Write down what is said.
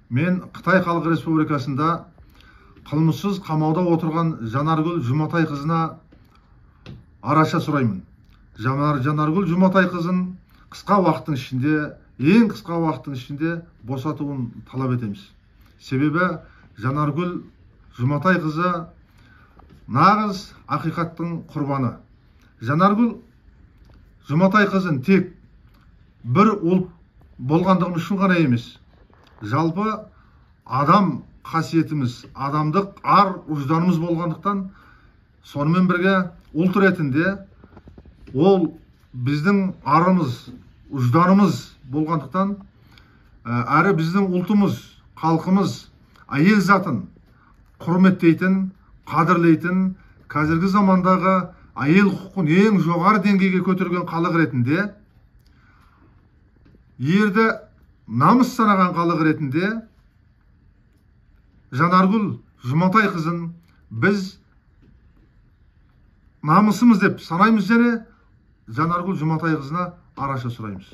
Мен Кытай Халық Республикасында кылмыссыз камауда отурган Жанаргүл Жуматай кызына араша сураймын. Жанаргүл Жуматай кызын кыска убакыттын ичинде, эң кыска убакыттын ичинде босотууну талап этебиз. Себеби Жанаргүл Жуматай кызы нагыз акыйкаттын курбаны. Жанаргүл Жуматай кызын тек бир улут болгондугу үчүн гана эмес, жалпы адам касиетimiz, адамдык ар ужданыбыз болгондуктан, сонымен бирге улут иретинде ол биздин арымыз, ужданыбыз болгондуктан, ары биздин улутумуз, калкымыз айыл затын курметтейтин, кадырлейтин, казирги замандагы айыл укугун эң жогору деңгейге көтөргөн калык иретинде, жерде намыс санаган калык иретинде Жанаргүл Жуматай кызын биз намысыбыз деп санайбыз және Жанаргүл Жуматай кызына араша сурайбыз.